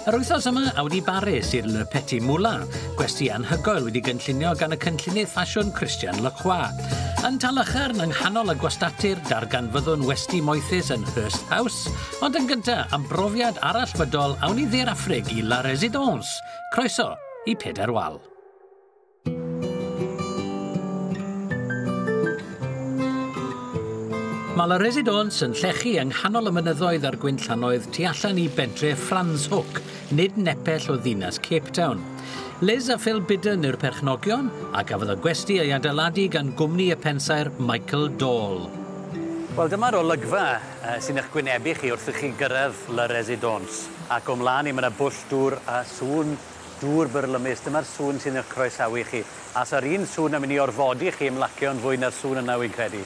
Yr wythnos yma, awn i Baris i'r Le Petit Moulin, gwesty anhygoel wedi gynllunio gan y cynllunydd ffasiwn Christian Lacroix. Yn Talacharn yng nghanol y gwastatir, darganfyddwn westy moethus yn Hurst House, ond yn gyntaf, am brofiad arallfydol, awn i Dde'r Affrig i La Résidence. Croeso i Pedair Wal. Mae La Résidence yn llechu yng nghanol y mynyddoedd a'r gwynllannoedd tu allan i bentre Franschhoek, nid nepell o ddinas Cape Town. Liz a Phil Bidden yw'r perchnogion, a gafodd y gwesty ei adeiladu gan gwmni y pensaer Michael Dahl. Wel, dyma'r olygfa sy'n eich gwynebu chi wrth i chi gyrraedd La Résidence. Ac o mlaen i mae yna bwll dŵr a sŵn dŵr byrlymus. Dyma'r sŵn sy'n eich croesawu chi. A sa'r un sŵn yn mynd i orfodi chi ymlacio'n fwy na'r sŵn yna, wy'n credu.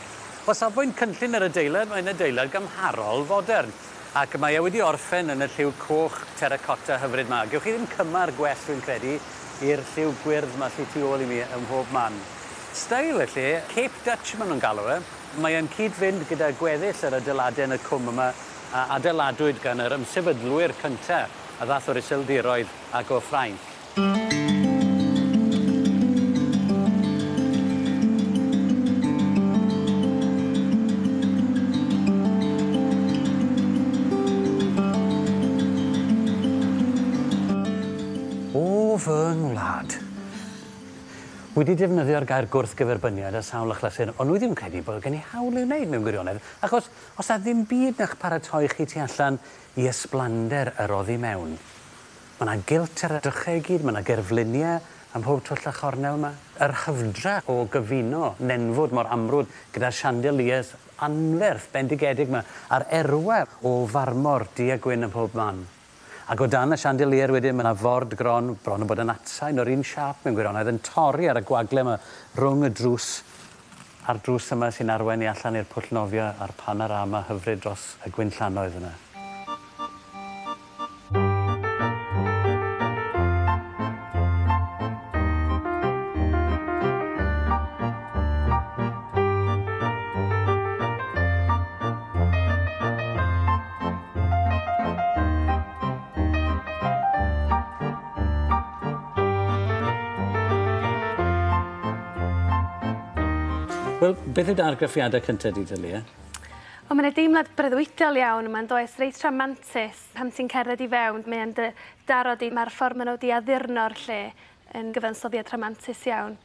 O safbwynt cynllun yr adeilad, mae'n adeilad gymharol fodern. Ac mae e wedi orffen yn y lliw coch terracotta hyfryd 'ma. Gewch chi ddim cymar gwell, dwi'n credu, i'r lliw gwyrdd 'ma sy tu ôl i mi ym mhob man. Steil y lle, Cape Dutch maen nhw'n galw e. Mae e'n cyd-fynd gyda gweddill yr adeiladau yn y cwm yma a adeiladwyd gan yr ymsefydlwyr cynta a ddath o'r Iseldiroedd ac o Ffrainc. O fy ngwlad. Wedi defnyddio'r gair gwrthgyferbyniad ar sawl achlysur, ond wi ddim yn credu bod gen i hawl i'w wneud mewn gwirionedd, achos os 'na ddim byd na'ch paratoi chi tu allan i ysblander yr oddi mewn. Ma' 'na gilt ar y drychau i gyd, ma' 'na gerfluniau ym mhob twll a chornel 'ma. Yr hyfdra o gyfuno nenfwd mor amrwd gyda'r chandeliers anferth bendigedig 'ma, a'r erwe o farmor du a gwyn ym mhob man. Ac o dan y chandelier wedyn ma' 'na ford gron, bron yn bod yn atsain o'r un siâp mewn gwirionedd, yn torri ar y gwagle 'ma rhwng y drws a'r drws yma sy'n arwain ni allan i'r pwll nofio a'r panorama hyfryd dros y gwynllannoedd yna. Wel, beth yw dy argraffiadau cyntaf di, Delia? Wel, mae'n deimlad breuddwydiol iawn yma, yn does, reit rhamantus pan ti'n cerdded i fewn, mae'n dy daro di, mae'r ffordd maen nhw wedi addurno'r lle yn gyfansoddiad rhamantus iawn.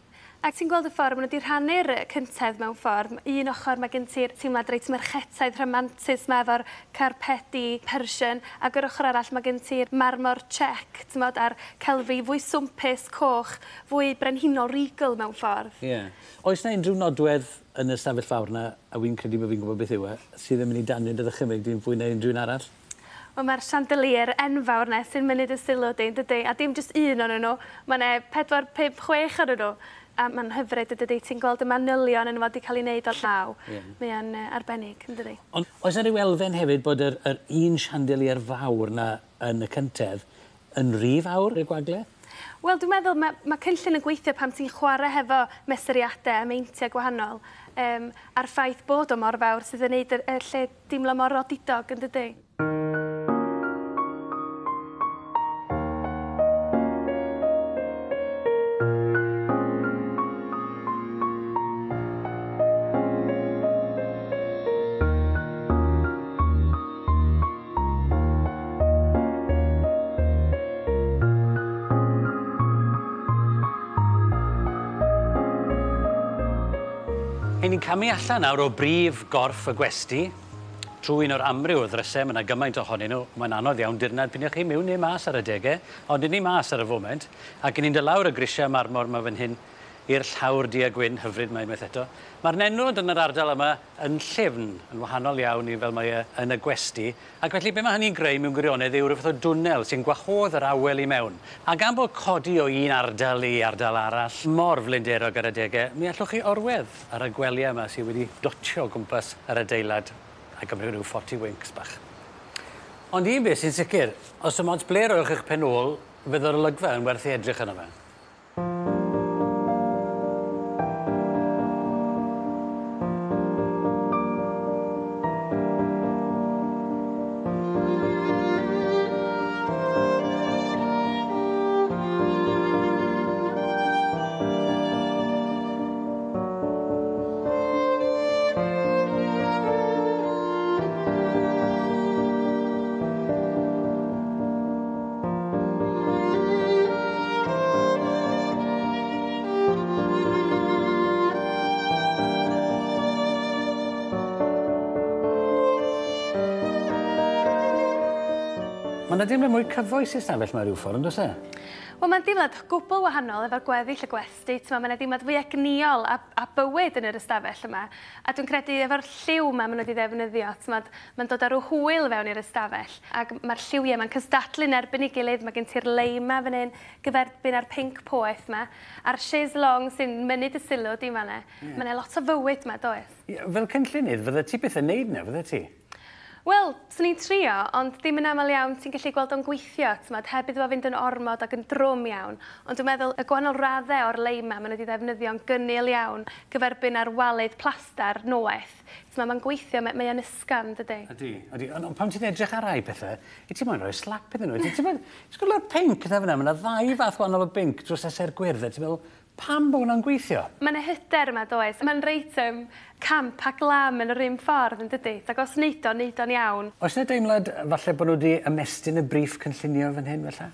Ac ti'n gweld y ffordd maen nhw wedi rhannu'r cyntedd mewn ffordd. Un ochr mae gen ti'r teimlad reit merchetaidd rhamantus 'ma efo'r carpedi Persian, ac yr ochr arall mae gen ti'r marmor Czech, t'mod, a'r celfi fwy swmpus, coch, fwy brenhinol regal mewn ffordd. Ie. Oes 'na unrhyw nodwedd yn y stafell fawr 'na, a wi'n credu bod fi'n gwybod beth yw e, sydd yn mynd i danio dy ddychymyg di'n fwy na unrhyw un arall? Wel, mae'r chandelier enfawr 'na sy'n mynnu dy sylw di, yndydi? A dim jyst un ohonyn nhw, mae 'na pedwar, pump, chwech ohonyn nhw. A mae'n hyfryd, yndydi? Ti'n gweld y manylion yno fo 'di cael ei wneud o llaw. Ie. Mae o'n arbennig, yndydi? Ond oes 'na ryw elfen hefyd bod yr yr un chandelier fawr 'na yn y cyntedd yn rhy fawr i'r gwagle? Wel, dwi'n meddwl ma' ma' cynllun yn gweithio pan ti'n chwarae hefo mesuriadau a meintiau gwahanol, a'r ffaith bod o mor fawr sydd yn neud y lle deimlo mor odidog, yndydi? Hyn ni'n camu allan nawr o brif gorff y gwesty, trwy un o'r amryw o ddrysau, mae yna gymaint ohonyn nhw, mae'n anodd iawn dirnad p'un ych chi mewn neu mas ar adegau, ond 'yn ni mas ar y foment, ac 'yn ni'n dod lawr y grisiau marmor 'ma fan hyn i'r llawr du a gwyn hyfryd 'ma unwaith eto. Mae'r nenfwd yn yr ardal yma yn llyfn, yn wahanol iawn i fel mae e yn y gwesty, ac felly be mae hynny'n greu mewn gwirionedd yw rhyw fath o dwnnel sy'n gwahodd yr awel i mewn. A gan bod codi o un ardal i ardal arall mor flinderog ar adegau, mi allwch chi orwedd ar y gwelyau yma sydd wedi dotio o gwmpas yr adeilad a gymryd rhyw 40 winks bach. Ond un beth sy'n sicr, os dim ots ble roiwch eich pen ôl, fydd yr olygfa yn werth ei edrych arno fe. Mae yna deimlad mwy cyfoes i stafell 'ma rhyw ffordd, yn does e? Wel, mae'n deimlad gwbl wahanol efo'r gweddill y gwesty. Mae yna deimlad fwy egnïol a bywyd yn yr ystafell yma. A dwi'n credu efo'r lliw yma maen nhw wedi ddefnyddio, mae'n dod â rhyw hwyl fewn i'r ystafell. Ac mae'r lliwiau yma'n cystadlu'n erbyn ei gilydd. Mae gen ti'r leim 'ma fan hyn, gyferbyn â'r pinc poeth 'ma, a'r chaise longue sy'n mynnu dy sylw di fan'na. Yeah. Mae yna lot o fywyd 'ma, does? Yeah, fel cynllunydd, fydde ti byth yn neud 'na, fydde ti? Wel, swn i'n trio, ond ddim yn aml iawn ti'n gallu gweld o'n gweithio, t'mod, heb iddo fo fynd yn ormod ac yn drwm iawn. Ond dwi'n meddwl y gwahanol raddau o'r leim 'ma, maen nhw wedi ddefnyddio'n gynnil iawn gyferbyn â'r walydd plastar noeth. T'mod, mae'n gweithio, mae o'n ysgafn, dydy? Ydy, ydy. Ond pan ti'n edrych ar rai pethau, i ti moyn rhoi slap iddyn nhw. Ti'n meddwl, ti'n gweld y pinc yna fyna, mae yna ddau fath wahanol o binc dros ese'r gwyrdd, a ti'n meddwl, pam bod hwnna'n gweithio? Mae yna hyder yma, does? Mae'n reit camp a glam yn yr un ffordd, yn dydy? Ac os neud o, neud o'n iawn. Oes yna deimlad falle bod nhw wedi ymestyn y briff cynllunio fan hyn, felly?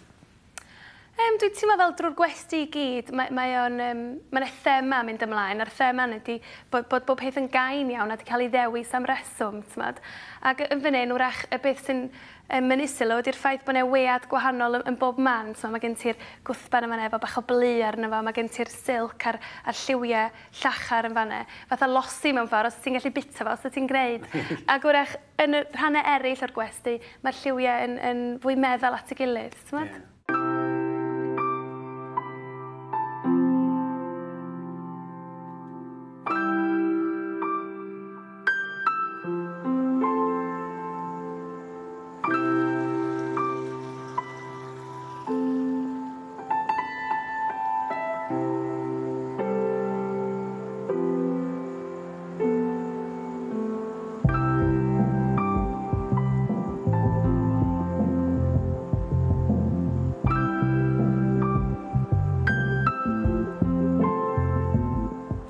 Dwi'n teimlo fel drwy'r gwesty i gyd, mae yna thema mynd ymlaen, a'r thema ydy bod bob peth yn gain iawn a wedi cael ei ddewis am reswm, t'mod. Ac yn fan hyn, wrach, y beth sy'n mynnu sylw ydy'r ffaith bod yna wead gwahanol yn bob man. So, mae gen ti'r gwthban yma efo bach o blu arno fo, mae gen ti'r silk a'r lliwiau llachar yn fanna. Fatha losi mewn ffordd, os ti'n gallu bita fo, os ti'n gwneud. Ac wrach, yn y rhannau eraill o'r gwesty, mae'r lliwiau yn fwy meddal at ei gilydd, t'mod? Yeah.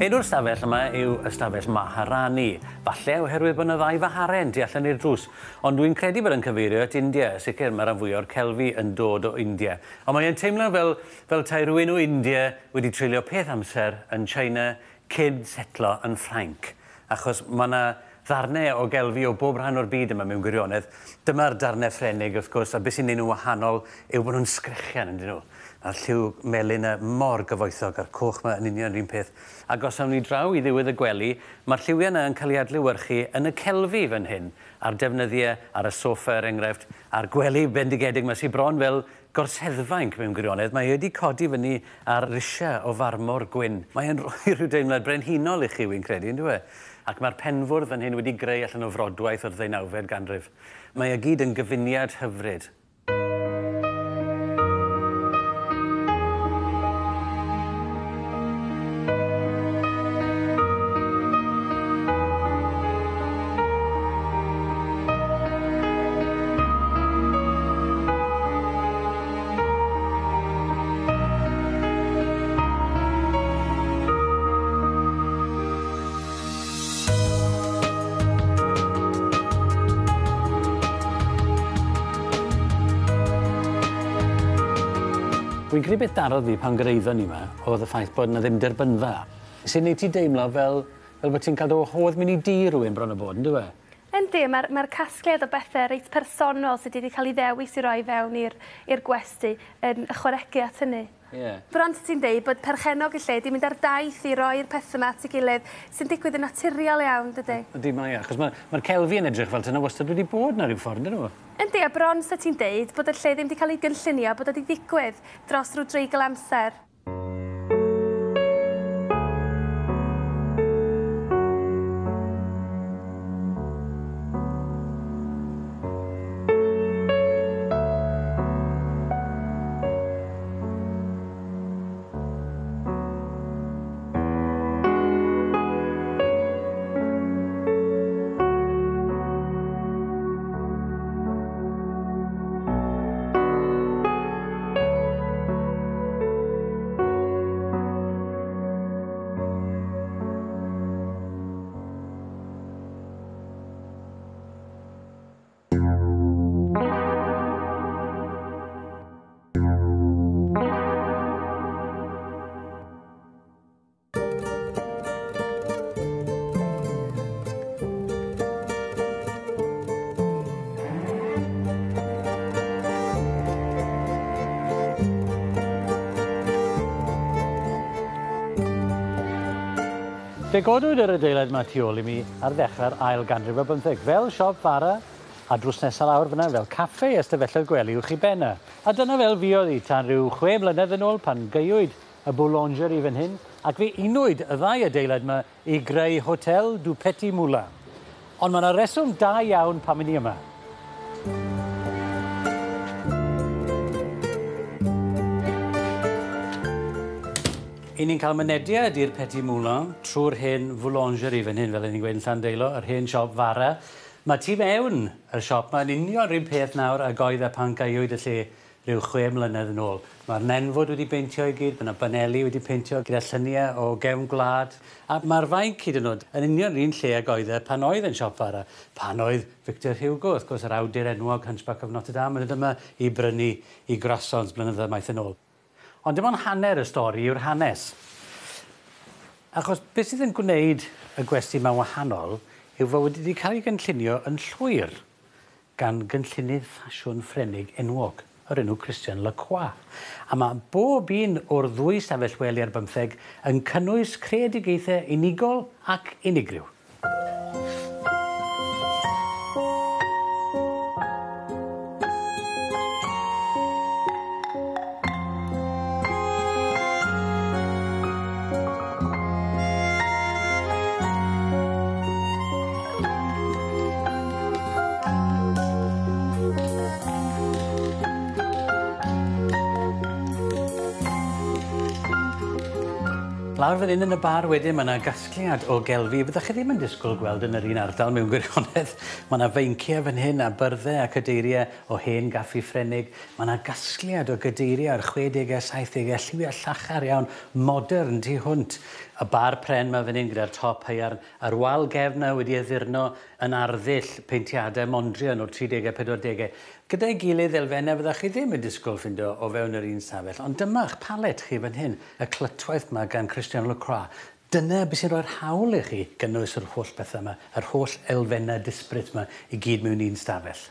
Enw'r stafell yma yw ystafell Maharani, falle oherwydd bod yna ddau faharen tu allan i'r drws, ond dwi'n credu bod yn cyfeirio at India, sicr mae rhan fwyaf o'r celfi yn dod o India. Ond mae'n teimlo fel tai rhywun o India wedi treulio peth amser yn China cyn setlo yn Ffrainc, achos mae yna ddarnau o gelfi o bob rhan o'r byd yma mewn gwirionedd. Dyma'r darnau Ffrenig, wrth gwrs, a beth sy'n neud nhw'n wahanol yw bod nhw'n sgrechian, yndyn nhw. A'r lliw melyn yna mor gyfoethog a'r coch yma yn union yr un peth. Ac os awn ni draw i ddiwedd y gwely, mae'r lliwiau yna yn cael ei adlewyrchu yn y celfi fan hyn, a'r defnyddiau ar y soffa, er enghraifft, a'r gwely bendigedig yma sy'n bron fel gorseddfainc mewn gwirionedd. Mae wedi codi fyny ar risiau o farmor gwyn. Mae'n rhoi rhyw deimlad brenhinol i chi, wy'n credu, yndyw e? Ac mae'r penfwrdd fan hyn wedi greu allan o frodwaith o'r 19fed ganrif. Mae e gyd yn gyfuniad hyfryd. Wy'n credu beth darodd fi pan gyrhaeddon ni yma oedd y ffaith bod yna ddim derbynfa. Sy'n neud ti deimlo fel bod ti'n cael dy wahodd mynd i dŷ rhywun bron o bod, yndyw e? Yndi, mae'r casgliad o bethau reit personol sydd wedi cael ei ddewis i roi fewn i'r gwesty yn ychwanegu at hynny. Yeah. Bron ti'n deud bod perchennog y lle di mynd ar daith i roi'r pethau yma at ei gilydd sy'n digwydd yn naturiol iawn, dydy? Ydy, mae, achos mae'r celfi yn edrych fel dyna wastad wedi bod na rhyw ffordd, ydyn nhw? Yndi, a bron sa ti'n deud bod y lle ddim wedi cael ei gynllunio, bod o wedi digwydd dros rhyw dreigl amser. Fe godwyd yr adeilad 'ma tu ôl i mi ar ddechrau'r ail ganrif ar bymtheg, fel siop fara a drws nesa lawr fyna fel caffe a stafelloedd gwely uwch 'i ben e. A dyna fel fuodd hi tan ryw chwe blynedd yn ôl pan gaewyd y boulangerie fan hyn, ac fe unwyd y ddau adeilad 'ma i greu Hotel du Petit Moulin. Ond mae 'na reswm da iawn pam 'yn ni yma. I ni'n cael mynediad i'r Petit Moulin trwy'r hen foulangerie fan hyn, fel 'yn ni'n gweud yn Llandeilo, yr hen siop fara. Mae tu mewn y siop 'ma yn union 'run peth nawr ag oedd e pan gaewyd y lle rhyw chwe mlynedd yn ôl. Mae'r nenfwd wedi beintio i gyd, mae 'na baneli wedi peintio gyda lluniau o gefn gwlad, a mae'r fainc hyd yn oed yn union yr un lle ag oedd e pan oedd e'n siop fara, pan oedd Victor Hugo, wrth gwrs, yr awdur enwog Hunchback of Notre Dame, yn dod yma i brynu i croissants blynyddoedd maith yn ôl. Ond dim ond hanner y stori yw'r hanes. Achos beth sydd yn gwneud y gwesty 'ma'n wahanol yw fod wedi cael ei gynllunio yn llwyr gan gynllunydd ffasiwn Ffrenig enwog, o'r enw Christian Lacroix. A mae bob un o'r ddwy stafell wely ar bymtheg yn cynnwys creadigaethau unigol ac unigryw. Lawr fan hyn yn y bar wedyn ma' 'na gasgliad o gelfi fyddech chi ddim yn disgwyl gweld yn yr un ardal mewn gwirionedd. Ma' 'na feinciau fan hyn a byrdde a cadeirie o hen gaffi Ffrenig. Ma' 'na gasgliad o gadeirie o'r chwedege a saithdege, lliwie llachar iawn, modern tu hwnt. Y bar pren 'ma fan hyn gyda'r top haearn, a'r wal gefn 'na wedi addurno yn arddull peintiadau Mondrian o'r tridege a pedwardege. Gyda'i gilydd, elfennau fyddech chi ddim yn disgwyl ffindo o fewn yr un stafell. Ond dyma'ch palet chi fan hyn, y clytwaith 'ma gan Christian Lacroix. Dyna beth sy'n rhoi'r hawl i chi gynnwys yr holl bethau 'ma, yr holl elfennau disbryd 'ma i gyd mewn un stafell.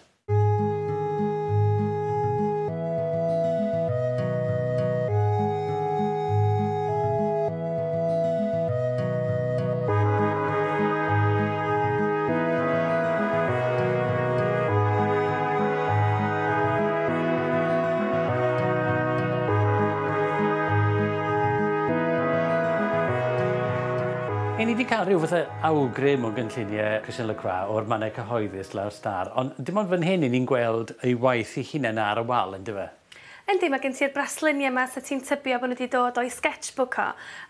Y'n ni 'di cael rhyw fath o awgrym o gynlluniau Christian Lacroix o'r mannau cyhoeddus lawr star, ond dim ond fan hyn 'yn ni'n gweld ei waith ei hunan ar y wal yndyfe? Yndi, mae gen ti'r brasluniau 'ma 'sa ti'n tybio bod nhw 'di dod o'i sketchbook o,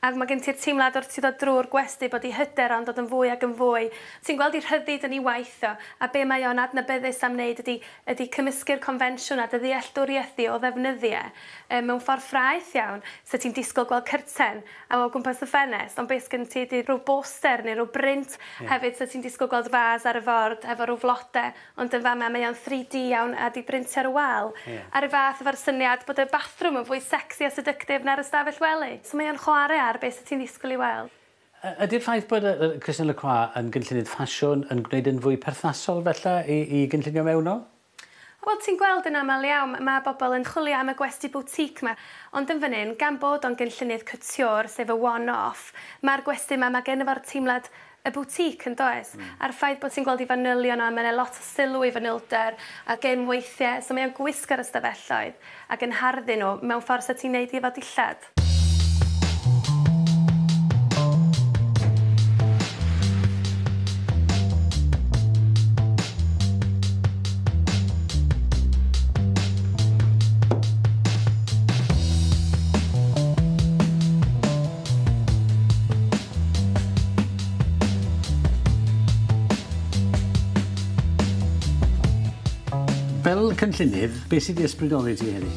ac mae gen ti'r teimlad wrth ti ddod drwy'r gwesty bod ei hyder o'n dod yn fwy ac yn fwy. Ti'n gweld ei rhyddid yn ei waith o, a be mae o'n adnabyddus am wneud ydi ydi cymysgu'r confensiwn a dy ddealltwriaeth di o ddefnyddiau yym mewn ffordd ffraeth iawn. 'Sa ti'n disgwyl gweld cyrten o gwmpas y ffenest, ond be sgen ti ydi rhyw boster neu rhyw brint. Hefyd 'sa ti'n disgwyl gweld fas ar y ford efo rhyw flode, ond yn fama mae o'n 3D iawn a 'di brintio ar y wal. A 'run fath efo'r syniad bod y bathroom yn fwy sexy a seductive na'r ystafell wely. So mae o'n chware ar be 'sa ti'n ddisgwyl i weld. Ydy'r ffaith bod Christian Lacroix yn gynllunydd ffasiwn yn gwneud yn fwy perthnasol fella i i gynllunio mewnol? Wel, ti'n gweld yn aml iawn, mae bobl yn chwilio am y gwesty boutique 'ma, ond yn fan hyn, gan bod o'n gynllunydd couture, sef y one-off, mae'r gwesty 'ma, mae genno fo'r teimlad y boutique, yn does? A'r ffaith bod ti'n gweld 'i fanylion o, a mae 'na lot o sylw i fanylder a gemweithiau, so mae o'n gwisgo'r ystafelloedd ac yn harddu nhw mewn ffordd 'sa ti'n neud i efo dillad. Fel cynllunydd, beth sydd 'di ysbrydoli ti heddi?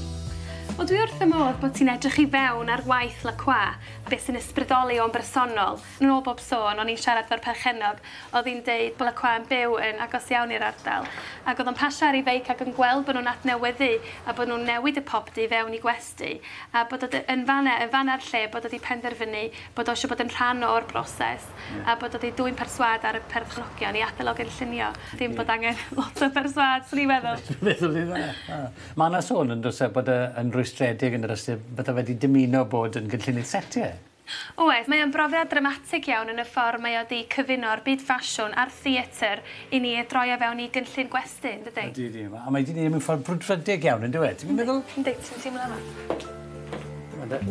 Wel dwi wrth fy modd bod ti'n edrych i fewn ar waith Lacroix, beth sy'n ysbrydoli o'n bersonol. Yn ôl bob sôn, o'n i'n siarad 'fo'r perchennog, o'dd hi'n deud bo' Lacroix yn byw yn agos iawn i'r ardal, ac o'dd o'n pasio ar 'i feic ac yn gweld bo' nw'n adnewyddu a bo' nw'n newid y popty i fewn i gwesty, a bod o 'di yn fan 'e, yn fan 'na'r lle bod o 'di penderfynu bod o isio bod yn rhan o'r broses a bod o 'di dwyn perswâd ar y perchnogion i adael o gynllunio. Dim bod angen lot o berswâd, swn i'n meddwl. Dwi'n meddwl iddo. Ma' 'na sôn yndo's e bod e yn rwystredig yn yr ystyr bydde fe 'di dymuno bod yn gynllunydd setiau. Oes, mae o'n brofiad dramatig iawn yn y ffordd mae o 'di cyfuno'r byd ffasiwn a'r theatr i ni droi o fewn i gynllun gwesty, yn dydi? Ydy, ydy. A mae 'di neud e mewn ffordd brwdfrydig iawn, yn dyw e? Ti'n meddwl? Yndi, ti'n teimlo yma. Dyma de.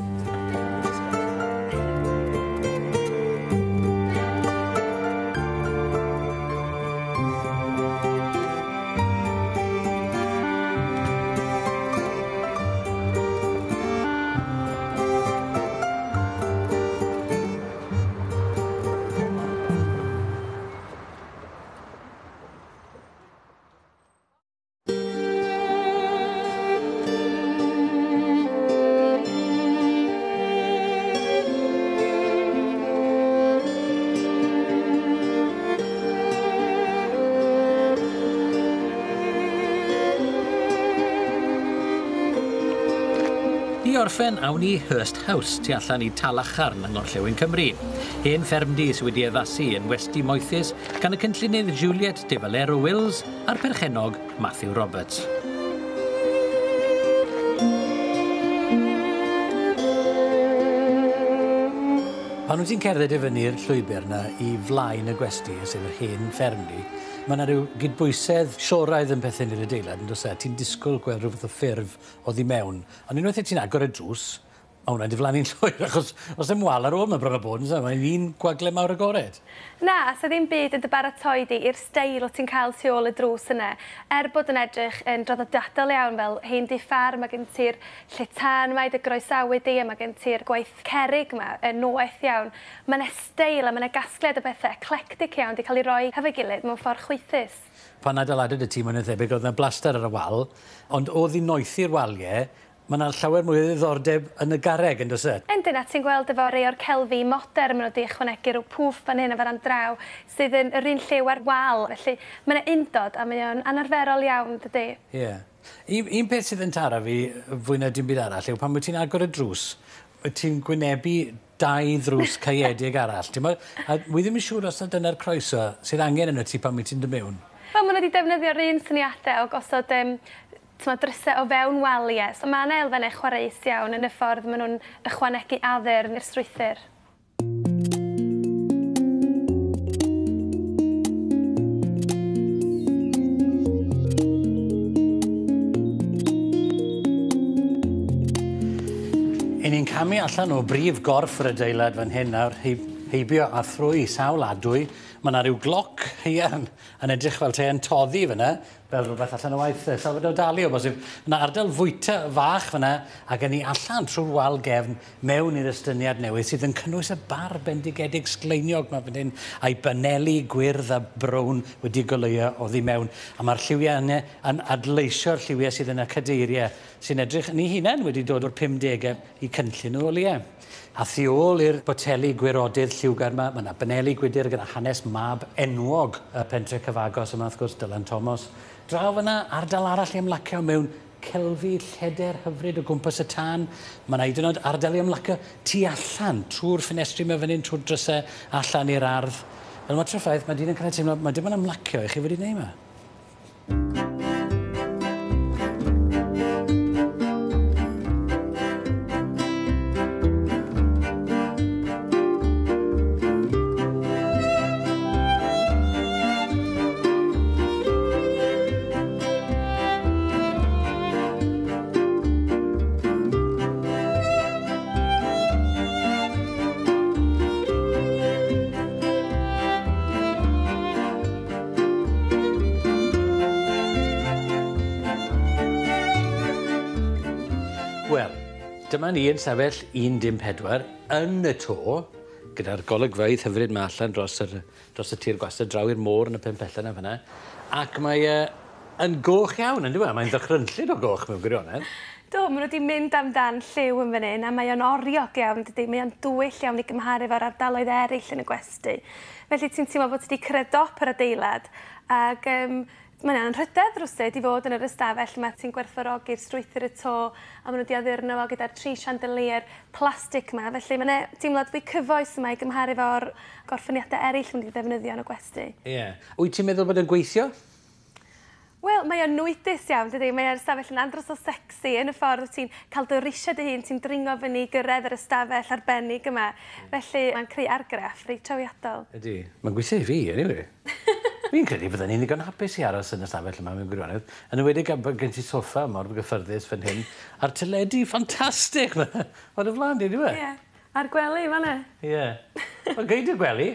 I orffen, awn i Hurst House tu allan i Talacharn yng Ngorllewin Cymru. Hen ffermdy sydd wedi addasu yn westy moethus gan y cynllunydd Juliet de Valero Wills a'r perchennog Matthew Roberts. Pan wyt ti'n cerdded i fyny'r llwybr 'na i flaen y gwesty, sef yr hen ffermdy, mae 'na ryw gydbwysedd Sioraidd yn perthyn i'r adeilad, yn does e? Ti'n disgwyl gweld rhyw fath o ffurf oddi mewn. Ond unwaith ti'n agor y drws, mae hwnna'n diflannu'n llwyr, achos os dim wal ar ôl, mae'n bron a bod, yn Mae'n un gwagle mawr agored. Na, so ddim byd yn dy baratoi di i'r steil o ti'n cael tu ôl y drws yna. Er bod yn edrych yn draddodiadol iawn fel hen dŷ ffarm, mae gen ti'r lle tân yma i dy groesawu di, a mae gen ti'r gwaith cerrig yma yn noeth iawn. Mae yna steil a mae yna gasgliad o bethau eclectic iawn di cael ei roi hefo'i gilydd mewn ffordd chwaethus. Pan adeiladwyd y tŷ, mae'n thebyg, oedd yna blaster ar y wal, ond oedd i noethi'r waliau, mae yna llawer mwy o ddiddordeb yn y garreg, yn does e? Yndyn, a ti'n gweld efo rei o'r celfi modern, maen nhw wedi ychwanegu rhyw pwff fan hyn a fan draw, sydd yn yr un lliw ar wal. Felly mae yna undod a mae o'n anarferol iawn, dydy? Ie. Yeah. Un, un peth sydd yn taro fi fwy na dim byd arall yw pan wyt ti'n agor y drws, wyt ti'n gwynebu dau ddrws caeedig arall. Ti'n a wi ddim yn siŵr os na dyna'r croeso sydd angen yno ti pan wyt ti'n dod mewn. Wel, maen nhw wedi defnyddio'r un syniadau o gosod drysau o fewn waliau. So mae yna elfennau chwareus iawn yn y ffordd maen nhw'n ychwanegu addurn i'r strwythur. I ni'n camu allan o brif gorff yr adeilad fan hyn nawr, heibio a thrwy sawl adwy. Mae yna rhyw gloc haearn yn edrych fel te yn toddi fyna, fel rhywbeth allan o waith Salvador Dali o bosib. Mae yna ardal fwyta fach fyna, ac yn ni allan trwy'r wal gefn mewn i'r estyniad newydd sydd yn cynnwys y bar bendigedig sgleiniog mae fan hyn, a'i baneli gwyrdd a brown wedi goleuo oddi mewn. A mae'r lliwiau yna yn adleisio'r lliwiau sydd yn y cadeiriau sy'n edrych yn ei hunain wedi dod o'r 50au i cynllun o oliau. A thu ôl i'r boteli gwirodydd lliwgar yma, mae yna baneli gwydr gyda hanes mab enwog y pentre cyfagos yma, wrth gwrs, Dylan Thomas. Draw fyna, ardal arall i ymlacio mewn celfi lleder hyfryd o gwmpas y tân. Mae yna hyd yn oed ardal i ymlacio tu allan, trwy'r ffenestri yma fan hyn, trwy'r drysau, allan i'r ardd. Fel mater o ffaith, mae dyn yn cael ei teimlo, mae dim ond ymlacio i chi wedi gwneud yma. Wel, dyma ni yn sefyll 14 yn y to, gyda'r golygfeydd hyfryd ma allan dros, yr, dros y tir gwastad, draw i'r môr yn y pen pella yna fan'na. Ac mae yn goch iawn, yn dyw e? Mae'n ddychrynllyd o goch mewn gwirionedd. Do, maen nhw wedi mynd amdan lliw yn fan hyn, a mae o'n oriog iawn, dydy? Mae o'n dywyll iawn i gymharu efo'r ardaloedd eraill yn y gwesty. Felly ti'n teimlo bod ti wedi cyrraedd dop yr adeilad, ac mae'n anrhydedd rywsut i fod yn yr ystafell yma. Ti'n gwerthfawrogi'r strwythur y to, a maen nhw wedi addurno fo gyda'r tri chandelier plastig yma. Felly mae'n deimlad fwy cyfoes yma i gymharu efo'r gorffeniadau eraill maen nhw wedi defnyddio yn y gwesty. Ie. Yeah. Wyt ti'n meddwl bod yn gweithio? Wel, Wel, mae o'n nwydus iawn, dydy? Mae'r ystafell yn andros o sexy yn y ffordd ti'n cael dy risiau dy hun, ti'n dringo fyny i gyrraedd yr ystafell arbennig yma. Felly, mae'n creu argraff reit trawiadol. Ydy. Mae'n gweithio i fi, anyway. Fi'n credu bydden ni'n ddigon hapus i aros yn y stafell yma mewn gwirionedd. Yn enwedig am bod gen ti soffa mor gyffyrddus fan hyn, a'r teledu ffantastig 'ma o dy flaen di, yndyw e? Ie. A'r gwely fan'na. Ie. Mae'n gei di'r gwely.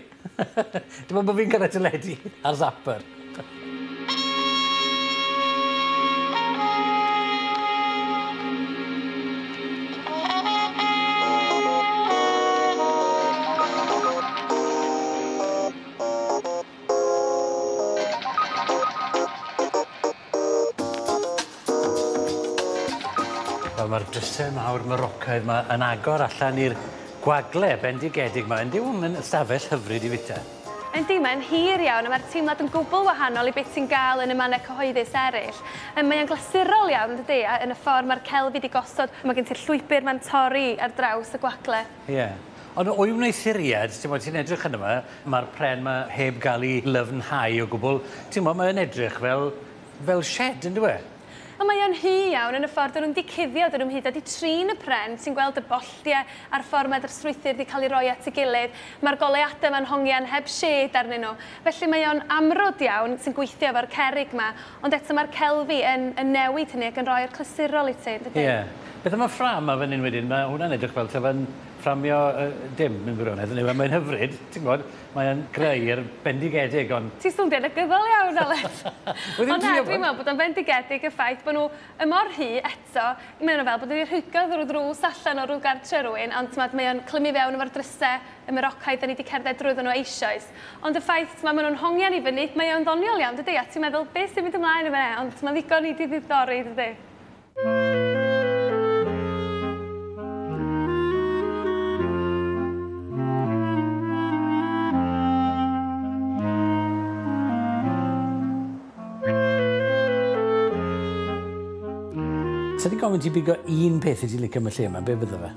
Dim ond bod fi'n cael y teledu a'r zapper. Wel, mae'r drysau mawr Morocaidd 'ma yn agor allan i'r gwagle bendigedig 'ma. Yndyw hwn yn ystafell hyfryd i fita? Yndi, mae'n hir iawn a mae'r teimlad yn gwbl wahanol i beth ti'n gael yn y mannau cyhoeddus eraill. Mae o'n glasurol iawn, dydy, a yn y ffordd mae'r celfi wedi gosod, mae gen ti'r llwybr ma'n torri ar draws y gwagle. Ie. Yeah. Ond o'i wneuthuriad, ti'n bod, ti'n edrych yn yma, mae'r pren 'ma heb gael ei lyfnhau o gwbl. Ti'n bod, mae'n edrych fel shed, yndyw e? Ond mae o'n hy iawn yn y ffordd dyn nhw'n di cuddio, dyn nhw'n hyd wedi trin y pren, ti'n gweld y bolltiau a'r ffordd mae'r strwythur wedi cael ei roi at ei gilydd. Mae'r goleuadau ma'n hongian heb shed arnyn nhw. Felly mae o'n amrwd iawn sy'n gweithio efo'r cerrig 'ma, ond eto mae'r celfi yn newid hynny ac yn rhoi'r clasurol i ti, yndydi? Ie. Beth am y ffrâm 'ma fan hyn wedyn? Mae hwnna'n edrych fel ta'n fframio dim mewn gwirionedd. Mae'n hyfryd, ti'n gwybod, mae'n greu bendigedig, ond... Ti'n swnio'n negyddol iawn, Alex. Ond na, dwi'n meddwl bod o'n bendigedig y ffaith bod nhw y mor hy eto, mae nhw fel bod wedi rhwygo drwy ddrws allan o rhyw gartre rhywun, ond mae o'n clymu fewn efo'r drysau y Morocaidd da ni wedi cerdded drwyddo nhw eisoes. Ond y ffaith, mae nhw'n hongian i fyny, mae o'n ddoniol iawn, dydy, a ti'n meddwl, beth sy'n mynd ymlaen efo e, ond mae'n ddigon i di ddiddori, dydy. Sa di gofyn ti bigo un peth i ti licio am y lle yma, be bydde fe?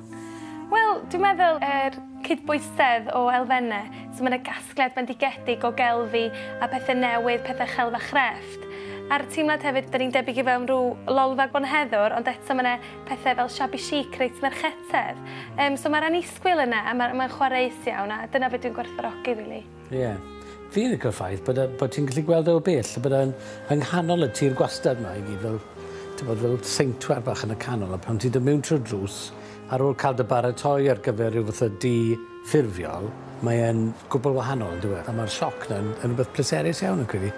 Wel, dwi'n meddwl yr cydbwysedd o elfennau. So mae yna gasgliad bendigedig o gelfi a pethau newydd, pethau chelf a chrefft. A'r teimlad hefyd, da ni'n debyg i fewn rhyw lolfa bonheddwr, ond eto mae yna pethau fel shabby chic reit merchetedd. So mae'r annisgwyl yna, a mae'n chwareus iawn, a dyna beth dwi'n gwerthfawrogi, really. Ie. Yeah. Fi'n licio'r ffaith bod ti'n gallu gweld e o bell, bod e'n yng nghanol y tir gwastad yma i gyd, fel, ti'n bod, fel seintwar bach yn y canol, a pan ti'n dod mewn trwy'r drws, ar ôl cael dy baratoi ar gyfer rhyw fath o dŷ ffurfiol, mae e'n gwbl wahanol, yn dyw e? A mae'r sioc 'na yn rhywbeth pleserus iawn yn credu.